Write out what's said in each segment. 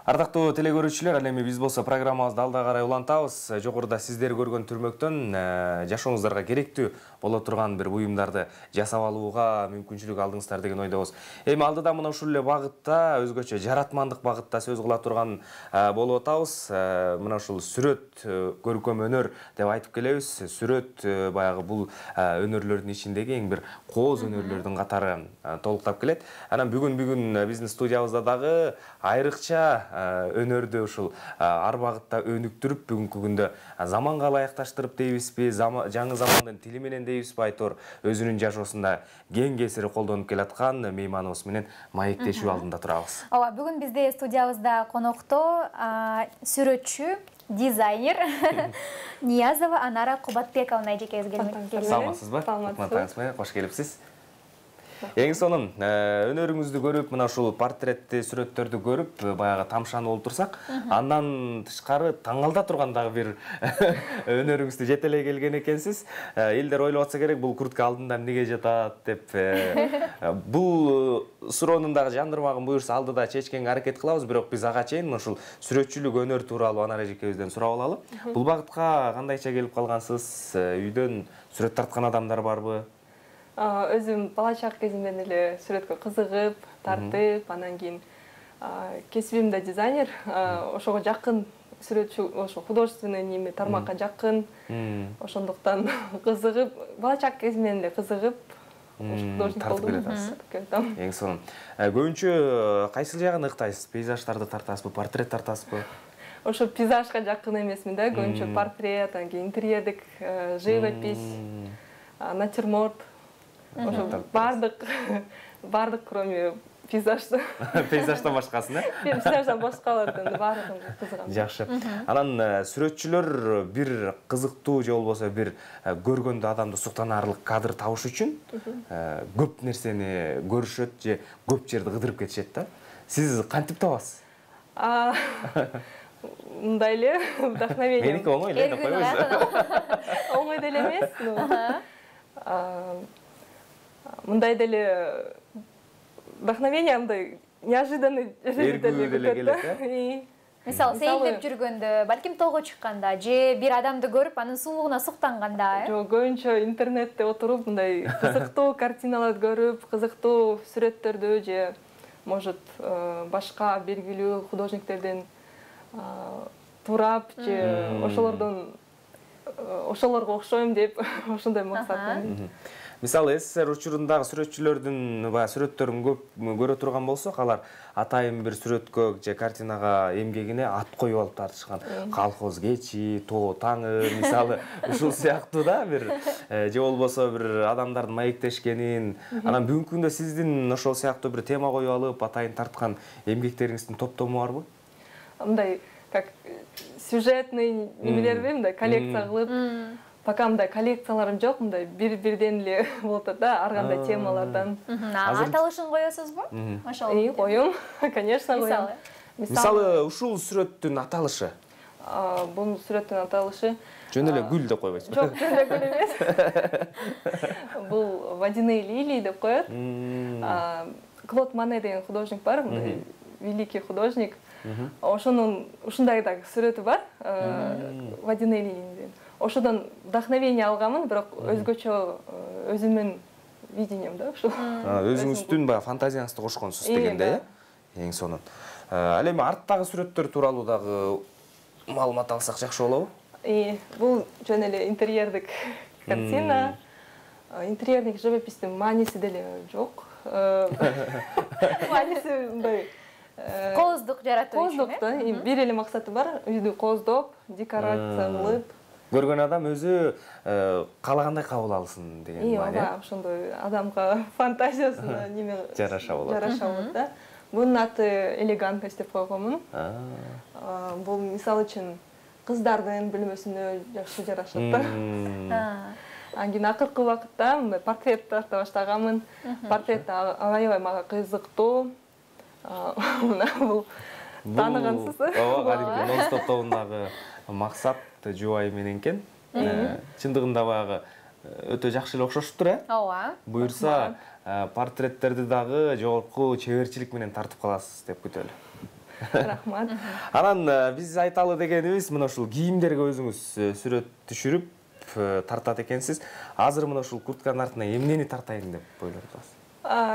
Ардактуу телекөрүүчүлөр, ал эми биз болсо программабызды алда карай улантабыз. Жогоруда сиздер көргөн түрмөктөн жашооңуздарга керектүү боло турган бир буюмдарды жасап алууга мүмкүнчүлүк алдыңыздар деген ойдобуз. Эми алдыда мына ушул эле багытта, өзгөчө жаратмандык багытта сөз кыла турган болуп атабыз. Мына ушул сүрөт, көркөм өнөр деп айтып келебиз. Сүрөт баягы бул өнөрлөрдүн ичиндеги эң бир кооз өнөрлөрдүн катары толуктап келет. Анан бүгүн биздин студиябызда дагы айрыкча өнөрдү ушул ар багытта өнүктүрүп, бүгүнкү күндө заманга ылайыкташтырып дейбизби, жаңы замандын тили менен дейбизби, айтор өзүнүн жашоосунда кең кесири колдонуп келаткан мейманыбыз менен маектешүү алдында турабыз. Ооба, бүгүн бизде студиябызда конокто сүрөтчү, дизайнер Ниязова Анара Кубатбековна эжекебиз келген. Саламатсызбы? Саламатсызбы? Кош келипсиз. Эң сонун өнөрүңүздү көрүп, мына ушул портретти, сүрөттөрдү көрүп, баягы тамшанып олтурсак, андан тышкары таңалда турган дагы бир өнөрүңүздү жетелей келген экенсиз. Элдер ойлоп атса керек, бул куртка алдында эмнеге жатат деп. Бул суроонун дагы жандырмагын буюрса алдыда чечкенге аракет кылабыз, бирок биз ага чейин ушул сүрөтчүлүк өнөр тууралуу Анара эжекебизден сурап алалы. Бул багытка кандайча келип калгансыз? Үйдөн сүрөт тарткан адамдар барбы? Өзүм бала чак кезимден эле сүрөткө кызыгып, тартып, анан кийин кесибим да дизайнер, ошого жакын сүрөтчү, ошо художественный неме тармакка жакын. Ошондуктан кызыгып, бала чак кезимден эле кызыгып, художник болдум. Эң сонун. Көбүнчө кайсыл жагын ыктайсыз? Пейзаждарды тартасызбы, портрет тартасызбы? Ошо пейзажга жакын эмесмин да, көбүнчө портрет, анан кийин интерьердик живопись, натюрморт. Ошо бардык кроме пейзажды. Пейзаждан башкасын, Пейзаждан башкалардын баардыгына кызыгам. Жакшы. Анан сүрөтчүлөр бир кызыктуу же болбосо бир көргөндө адамды суктанаарлык кадр табыш үчүн көп нерсени көрүшөт же көп жерди кыдырып кетишет да. Сиз кантип табасыз? Мындай эле вдохновение. Меники оңой эле деп койбойсузбу? Оңой деле эмес. Мындай деле вдохновение, мындай неожиданный деле келет. Мисалы, сейилдеп жүргөндө, балким тоого чыкканда же бир адамды көрүп, анын сулууна суктанганда, Жок, көбүнчө интернетте отуруп, мындай кызыктуу картиналарды көрүп, кызыктуу сүрөттөрдү же может башка белгилүү художниктерден турап же ошолорго окшойм деп ошондой максатым. Мисалы, СССР учурундагы сүрөтчүлөрдүн сүрөттөрүн көп көрө турган болсок, алар атайын бир сүрөткө же картинага эмгегине ат коюп алып тартышкан. Колхоз кечи, тоо таңы, мисалы, ушул сыяктуу да бир же болбосо бир адамдардын маектешкенин. Анан бүгүнкү күндө сиздин ошол сыяктуу бир тема коюп алып, атайын тарткан эмгектериңиздин топтому барбы? Мындай как сюжетный немелерби, мындай коллекция кылып, пока мындай коллекцияларым жок, мындай бир-бирден эле болот да, ар кандай темалардан. Аталышын коесузбу? Ошол. Коем, конечно, коем. Мисалы, ушул сүрөттүн аталышы? Бул сүрөттүн аталышы жөн эле гүл деп койбойсузбу? Жок, жөн эле гүл эмес. Бул водяные лилии деп коет. Клод Мане деген художник бар, великий художник. Ошонун ушундай да сүрөтү бар, водяные лилии. Ошодон вдохновение алганмын, бирок өзгөчө өзүмдүн видением да ушул. Өзүңүздүн баягы фантазияңызды кошконсуз дегенде, эң сонун. Ал эми арттагы сүрөттөр тууралуу дагы маалымат алсак жакшы болобу? Бул жөн эле интерьердик картина. Интерьердик живопистин мааниси деле жок. Мааниси мындай кооздук жаратуу үчүн. Кооздук да, бир эле максаты бар, үйдү кооздоп, декорация кылып. Көргөн адам өзү каалагандай кабыл алсын деген маани. Ооба, ошондой адамга фантазиясына неме жараша болот. Жараша болот да. Бунун аты элегантность деп койгонмун. Бул мисалы үчүн кыздардын бөлмөсүнө жакшы жарашат да. Анан кийин акыркы убакытта мындай портрет тарта баштаганмын. Портрет аябай мага кызыктуу. Бул тааныгансыз. Ооба, кадимки Non-Stop тобундагы максат жубайы менен экен. Чындыгында баягы өтө жакшы эле окшошуптур, Ооба. Буюрса, портреттерди дагы жогорку чеберчилик менен тартып каласыз деп күтөлү. Рахмат. Анан биз айталы дегенибиз мына ушул кийимдерге өзүңүз сүрөт түшүрүп тартат экенсиз. Азыр мына ушул куртканын артына эмнени тартайын деп ойлоп атасыз?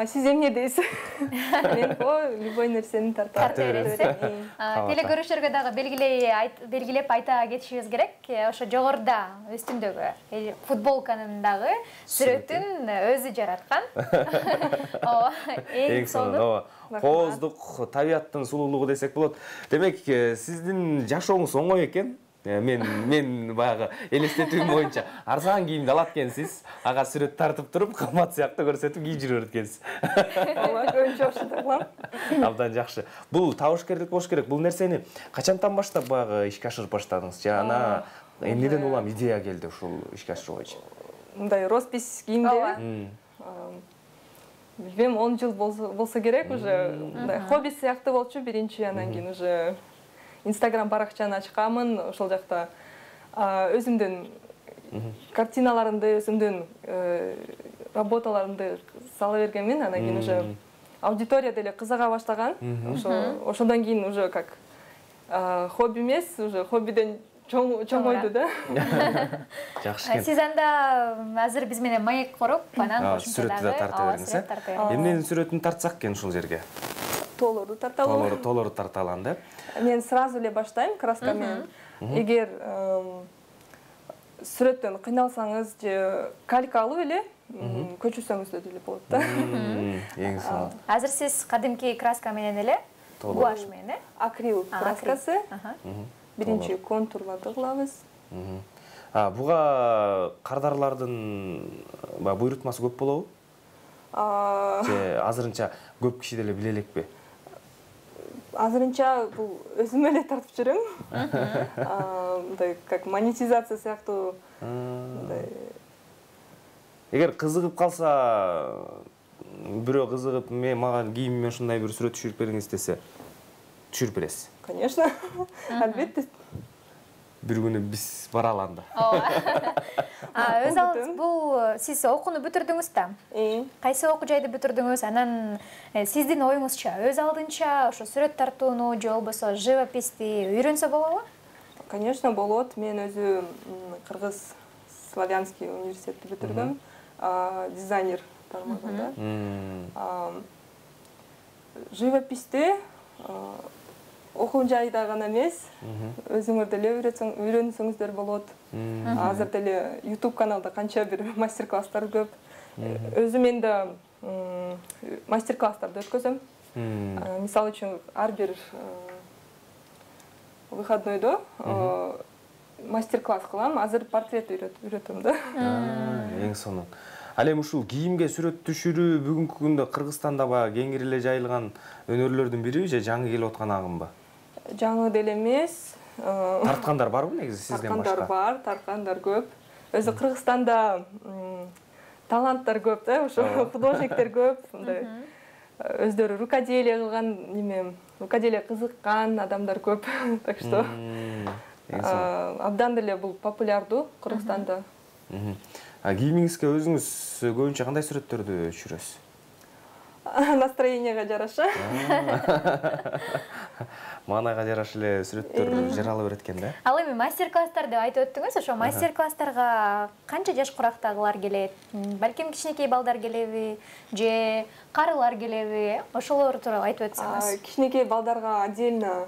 Сиз эмне дейсиз? Мен любой нерсени тартам. Тарта бересиз. Телекөрүүчүлөргө дагы белгилеп айта кетишибиз керек. Ошо жогоруда үстүндөгү футболканын дагы сүрөтүн өзү жараткан. Ооба, эң сонун. Кооздук, табияттын сулуулугу десек болот. Демек, сиздин жашооңуз оңой экен. Мен баягы элестетүүм боюнча арзан кийимди алат экенсиз, ага сүрөт тартып туруп, кымбат сыяктуу көрсөтүп кийип жүрөт экенсиз. Ооба, көбүнчө ошондой кылам. Абдан жакшы. Бул табышкерлик болуш керек. Бул нерсени качантан баштап баягы ишке ашырып баштадыңыз? Жана эмнеден улам идея келди ушул ишке ашыруу боюнча? Мындай роспись кийимдеби? Билбейм, 10 жыл болсо керек уже. Мындай хобби сыяктуу болчу биринчи, анан кийин уже Instagram баракчаны ачканмын, ошол жакта өзүмдүн картиналарымды, өзүмдүн работаларымды сала бергенмин, анан кийин уже аудитория деле кызыга баштаган. Ошондон кийин уже как хобби эмес, уже хоббиден чоңойду да. Жакшы экен. Сиз анда азыр биз менен маек коруп, анан сүрөттү да тарта бериңиз, Эмненин сүрөтүн тартсак экен ушул жерге? Тоолорду тарталы. Тоолорду тарталан деп. Мен сразу эле баштайм краска менен. Эгер сүрөттөн кыйналсаңыз же калька алып эле көчүрсөңүз деле болот да. Эң сонун. Азыр сиз кадимки краска менен эле, гуаш менен, акрил краскасы. Биринчи контурларды кылабыз. Буга кардарлардын буйрутмасы көп болобу? Же азырынча көп киши деле биле элекпи? Азырынча бул өзүм эле тартып жүрөм. Мындай как монетизация сыяктуу. Эгер кызыгып калса, бирөө кызыгып, мага кийимиме ушундай бир сүрөт түшүрүп бериңиз десе, түшүрүп бересиз? Конечно. Албетте. Бир күнү биз баралы анда. Өз алдыңыз бул сиз окууну бүтүрдүңүз да. Кайсы окуу жайды бүтүрдүңүз? Анан сиздин оюңузча, өз алдынча ошо сүрөт тартууну же болбосо живописти үйрөнсө болобу? Конечно, болот. Мен өзү Кыргыз славянский университетти бүтүрдүм. Дизайнер тармагында. Живописти окуу жайда гана эмес, өзүңөр деле үйрөнсөңүздөр болот. Азыр деле YouTube каналда канча бир мастер-класстар көп. Өзүм энди мастер-класстарды өткөзөм. Мисалы үчүн ар бир выходнойдо мастер-класс кылам. Азыр портрет үйрөтөм да. Эң сонун. Ал эми ушул кийимге сүрөт түшүрүү бүгүнкү күндө Кыргызстанда баягы кеңири эле жайылган өнөрлөрдүн бириби же жаңы келип аткан агымбы? Жаңы деле эмес. Тарткандар барбы негизи сизден башка? Тарткандар бар, тарткандар көп. Өзү Кыргызстанда таланттар көп да, ошо художниктер көп, мындай өздөрү рукоделие кылган, рукоделие кызыккан адамдар көп. Так что абдан деле бул популярдуу Кыргызстанда. Кийимиңизге өзүңүз көбүнчө кандай сүрөттөрдү түшүрөсүз? Настроенияга жараша. Маанайга жараша эле сүрөттөр жарала берет экен да. Ал эми мастер-класстар деп айтып өттүңүз, ошо мастер-класстарга канча жаш курактагылар келет? Балким кичинекей балдар келеби, же карылар келеби? Ошолор тууралуу айтып өтсөңүз. Кичинекей балдарга отдельно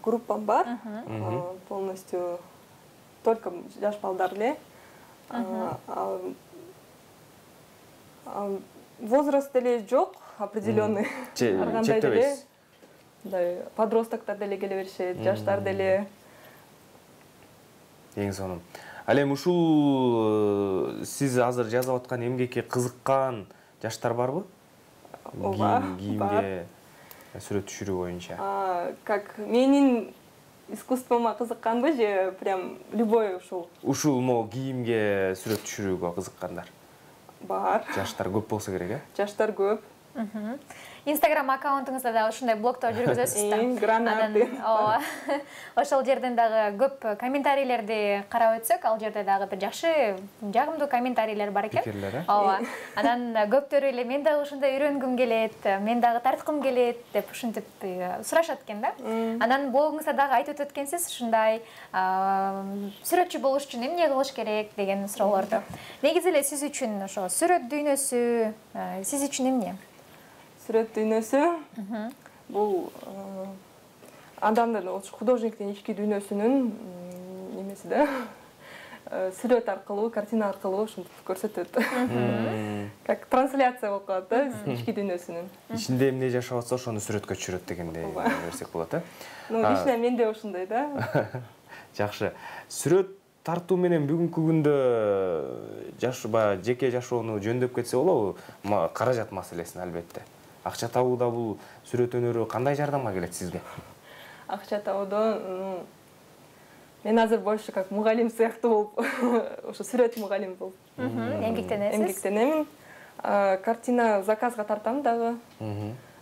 группам бар. Полностью только жаш балдар эле. Возраст деле жок, определенный. Чектебейсиз. Подростоктор деле келе беришет, жаштар деле. Эң сонун. Ал эми ушул сиз азыр жазып аткан эмгекке кызыккан жаштар барбы? Ооба, кийимге сүрөт түшүрүү боюнча. Как менин искусствома кызыкканбы же прям любой ушул? Ушул кийимге сүрөт түшүрүүгө кызыккандар. Бар. Жаштар көп болсо керек, э? Жаштар көп. Инстаграм аккаунтуңузда дагы ушундай блогдор жүргүзөсүз да. Гранат. Ооба. Ошол жерден дагы көп комментарийлерди карап өтсөк, ал жерде дагы бир жакшы, жагымдуу комментарийлер бар экен. Пикирлер, Ооба. Анан көптөрү эле мен дагы ушундай үйрөнгүм келет, мен дагы тарткым келет деп ушинтип сурашат экен да. Анан блогуңузда дагы айтып өтөт экенсиз, ушундай сүрөтчү болуш үчүн эмне кылыш керек деген суроолорду. Негизи эле сиз үчүн ошо сүрөт дүйнөсү сиз үчүн эмне? Сүрөт дүйнөсү бул адамдын, художниктин ички дүйнөсүнүн немеси да. Сүрөт аркылуу, картина аркылуу ушинтип көрсөтөт. Как трансляция болуп калат да ички дүйнөсүнүн. Ичинде эмне жашап атса ошону сүрөткө түшүрөт дегендей берсек болот, э? Ну, лично менде ушундай да. Жакшы. Сүрөт тартуу менен бүгүнкү күндө жеке жашоону жөндөп кетсе болобу? Каражат маселесин албетте. Акча табууда бул сүрөт өнөрү кандай жардамга келет сизге? Акча табууда мен азыр больше как мугалим сыяктуу болуп, ошо сүрөт мугалим болуп эмгектенемин. Картина заказга тартам дагы.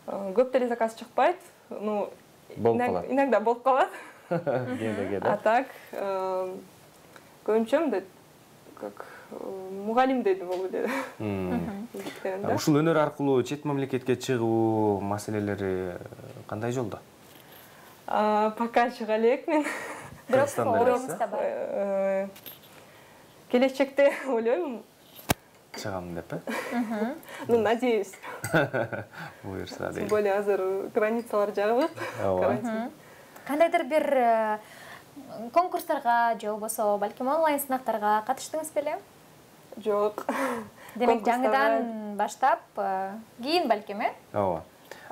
Көп деле заказ чыкпайт. Ну, иногда болуп калат. А так, көбүнчө мындай как мугалим деди болуп эле. Ушул өнөр аркылуу чет мамлекетке чыгуу маселелери кандай жолдо? Пока чыга элекмин. Бирок оюңузда бар. Келечекте ойлойм. Чыгам деп, э? Ну, надеюсь. Буюрса Тем более азыр границалар жабык. Кандайдыр бир конкурстарга же болбосо балким онлайн сынактарга катыштыңыз беле? Жок. Демек жаңыдан баштап, кийин балким, э? Ооба.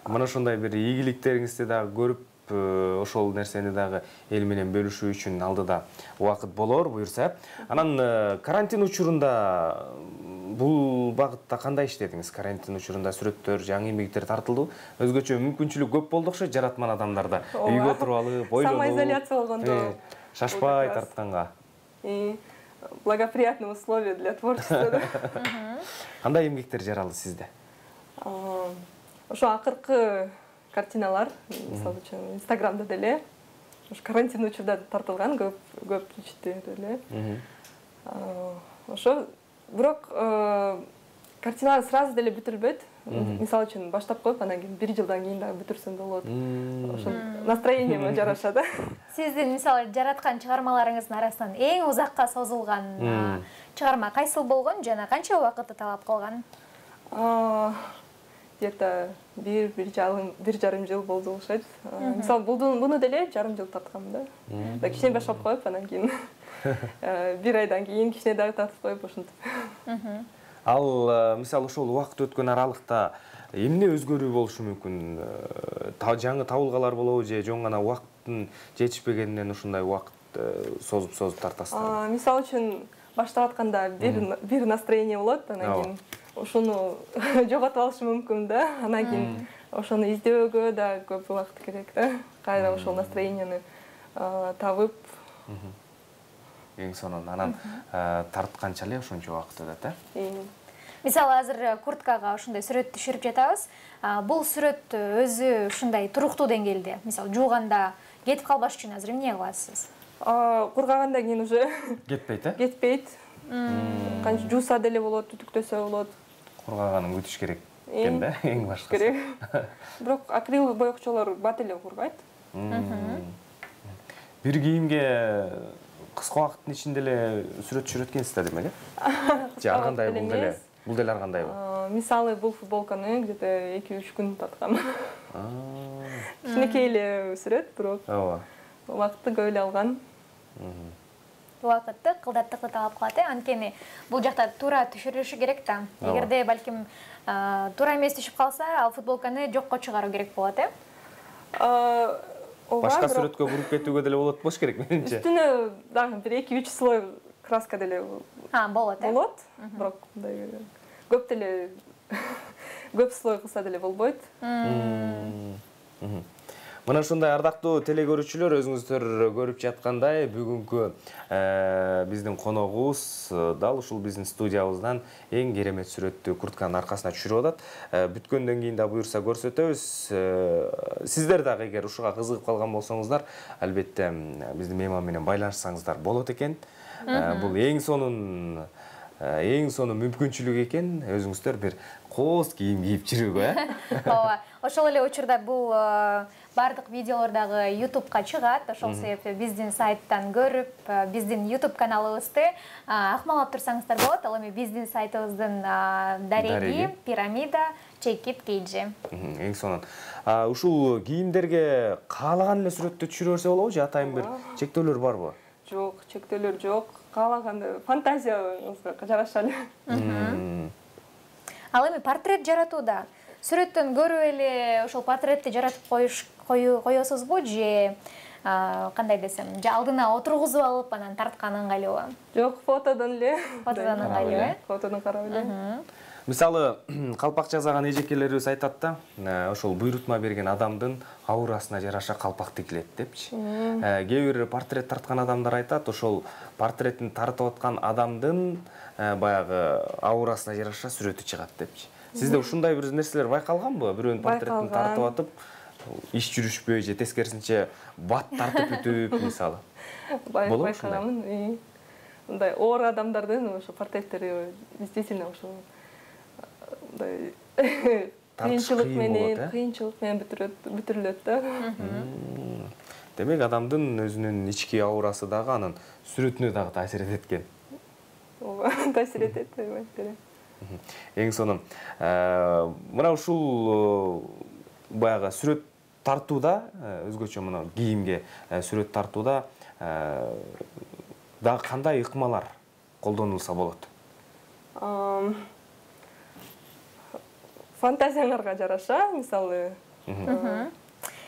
Мына ошондой бир ийгиликтериңизди дагы көрүп, ошол нерсени дагы эл менен бөлүшүү үчүн алдыда убакыт болор буюрса. Анан карантин учурунда бул багытта кандай иштедиңиз? Карантин учурунда сүрөттөр, жаңы эмгектер тартылды. Өзгөчө мүмкүнчүлүк көп болду окшойт жаратман адамдарда. Үйгө отуруп алып, ойлонуп. Самоизоляция болгондо. Шашпай тартканга. Благоприятные условия для творчества. Кандай эмгектер жаралды сизде? Ошо акыркы картиналар, мисалы үчүн Инстаграмда деле, ошо карантин учурда тартылган көп ичти деле. Ошо бирок картиналар сразу деле бүтүрбөйт. Мисалы үчүн баштап коюп, анан кийин 1 жылдан кийин дагы бүтүрсөм болот. Ошо настроениеме жараша да. Сиздин мисалы жараткан чыгармаларыңыздын арасынан эң узакка созулган чыгарма кайсыл болгон жана канча убакытты талап кылган? Где-то 1,5 жыл болду окшойт. Мисалы буну деле жарым жыл тарткам да. Да кичине баштап коюп, анан кийин 1 айдан кийин кичине дагы тартып коюп ошентип. Ал мисалы ошол убакыт өткөн аралыкта эмне өзгөрүү болушу мүмкүн? Жаңы табылгалар болобу же жөн гана убакыттын жетишпегенинен ушундай убакыт созуп тартасыздар? Мисалы үчүн баштап атканда бир настроение болот, анан кийин ошону жоготуп алышы мүмкүн да. Анан кийин ошону издөөгө да көп убакыт керек да. Кайра ошол настроениени табып. Эң сонун анан тартканча эле ошончо убакыт өтөт, э? Мисалы азыр курткага ошондой сүрөт түшүрүп жатабыз. Бул сүрөт өзү ушундай туруктуу деңгээлде, мисалы жууганда кетип калбаш үчүн азыр эмне кыласыз? Кургагандан кийин уже кетпейт, э? Кетпейт. Канча жууса деле болот, түтүктөсө болот. Кургаганын күтүш керек экен да, эң башкысы. Керек. Бирок акрил боекчолор бат эле кургайт. Бир кийимге кыска убакыттын ичинде эле сүрөт түшүрөт экенсиз демек, э? Же ар кандай бул деле? Бул деле ар кандайбы? Мисалы бул футболканы где-то 2-3 күн тарткам. Кичинекей эле сүрөт, бирок Ооба. Убакытты көп эле алган. Убакытты, кылдаттыкты талап кылат, э? Анткени бул жакта туура түшүрүшү керек да. Эгерде балким туура эмес түшүп калса, ал футболканы жокко чыгаруу керек болот, э? Башка сүрөткө буруп кетүүгө деле болот болуш керек менимче. Үстүнө дагы бир 2-3 слой краска деле болот, э? Болот, бирок мындай көп деле көп слой кылса деле болбойт. Мына ушундай ардактуу телекөрүүчүлөр, өзүңүздөр көрүп жаткандай, бүгүнкү биздин коногубуз дал ушул биздин студиябыздан эң керемет сүрөттү куртканын аркасына түшүрүп атат. Бүткөндөн кийин да буюрса көрсөтөбүз. Сиздер дагы эгер ушуга кызыгып калган болсоңуздар, албетте биздин мейман менен байланышсаңыздар болот экен. Бул эң сонун мүмкүнчүлүк экен, өзүңүздөр бир кооз кийим кийип жүрүүгө, Ооба, ошол эле учурда бул бардык видеолор дагы YouTube'га чыгат. Ошол себептен биздин сайттан көрүп, биздин YouTube каналыбызды акмалап турсаңыздар болот. Ал эми биздин сайтыбыздын дареги пирамида чекит KG. Эң сонун. Ушул кийимдерге каалаган эле сүрөттү түшүрө берсе болобу же атайын бир чектөөлөр барбы? Жок, чектөөлөр жок. Каалаганда фантазияңызга жараша эле. Ал эми портрет жаратууда сүрөттөн көрүп эле ошол портретти жаратып коесузбу же кандай десем, же алдына отургузуп алып анан тарткан ыңгайлуубу? Жок, фотодон эле. Фотодон ыңгайлуу, Фотодон карап эле. Мисалы, калпак жасаган эжекелерибиз айтат да, ошол буйрутма берген адамдын аурасына жараша калпак тигилет депчи. Кээ бир портрет тарткан адамдар айтат, ошол портреттин тартып аткан адамдын баягы аурасына жараша сүрөтү чыгат депчи. Сизде ушундай бир нерселер байкалганбы? Бирөөнүн портреттин тартып атып, иш жүрүшпөй же тескерисинче бат тартып бүтүп, мисалы. Байкаганмын. Мындай оор адамдардын ошо портреттери действительно ошо кыйынчылык менен бүтүрүлөт да. Демек, адамдын өзүнүн ички аурасы дагы анын сүрөтүнө дагы таасир этет экен. Ооба, таасир этет. Эң сонун. Мына ушул баягы сүрөт тартууда, өзгөчө мына кийимге сүрөт тартууда дагы кандай ыкмалар колдонулса болот? Фантазияңарга жараша, мисалы,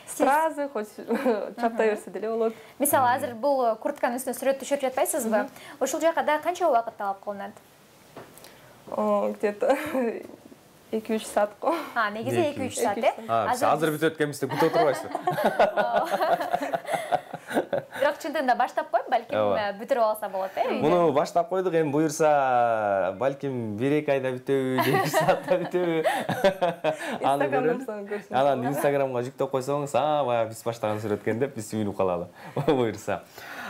сразу хоть чаптай берсе деле болот. Мисалы, азыр бул куртканын үстүнө сүрөт түшүрүп жатпайсызбы? Ошол жака да канча убакыт талап кылынат? Где-то 2-3 саат го. Негизи 2-3 саат, Азыр бүтөт экенбизде бүтө отурбайсызбы? Бирок чындыгында баштап коюп, балким бүтүрүп алса болот, Муну баштап койдук, эми буюрса, балким 1-2 айда бүтөбү, 2 саатта бүтөбү. Анан Инстаграмга жүктөп койсоңуз, баягы биз баштаган сүрөт экен деп биз сүйүнүп калалы. Буюрса.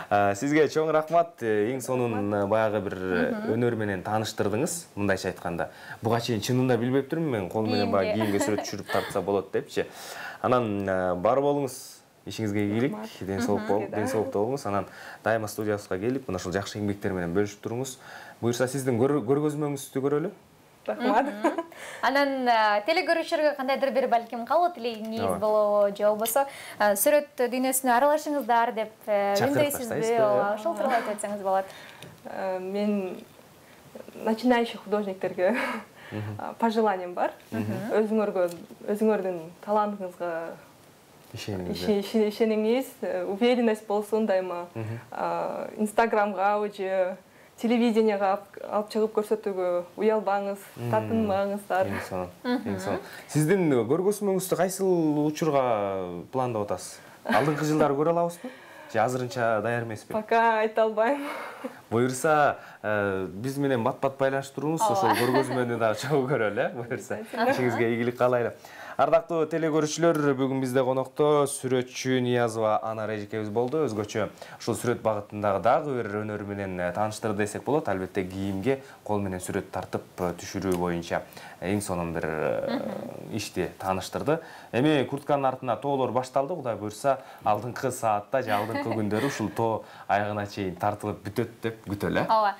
Сизге чоң рахмат, эң сонун баягы бир өнөр менен тааныштырдыңыз, мындайча айтканда. Буга чейин чынында билбептирмин мен, кол менен баягы кийимге сүрөт түшүрүп тартса болот депчи. Анан бар болуңуз, ишиңизге ийгилик, ден соолукта болуңуз. Анан дайыма студиябызга келип, мына ушул жакшы эмгектер менен бөлүшүп туруңуз. Буюрса, сиздин көргөзмөңүздү көрөлү. Рахмат. Анан телекөрүүчүлөргө кандайдыр бир балким калуу тилегиңиз болобу, же болбосо сүрөт дүйнөсүнө аралашыңыздар деп үндөйсүзбү? Ошол тууралуу айтып өтсөңүз болот. Мен начинающий художниктерге пожеланием бар. Өзүңөрдүн талантыңызга ишениңиз, уверенность болсун дайыма. Инстаграмга же телевиденияга алып чыгып көрсөтүүгө уялбаңыз, татынмаңыздар. Эң сонун. Сиздин көргөзмөңүздү кайсыл учурга пландап атасыз? Алдыңкы жылдары көрө алабызбы? Же азырынча даяр эмеспи? Пока айта албайм. Буюрса, биз менен бат-бат байланышып туруңуз, ошол көргөзмөнү дагы чогуу көрөлү, буюрса. Ишиңизге ийгилик каалайлы. Ардактуу телекөрүүчүлөр, бүгүн бизде конокто сүрөтчү Ниязова Анар эжекебиз болду. Өзгөчө ушул сүрөт багытындагы дагы бир өнөрү менен тааныштырды десек болот. Албетте кийимге кол менен сүрөт тартып түшүрүү боюнча эң сонун бир ишти тааныштырды. Эми куртканын артына тоолор башталды, Кудай буюрса, алдыңкы саатта же алдыңкы күндөрү ушул тоо аягына чейин тартылып бүтөт деп күтөлү. Ооба.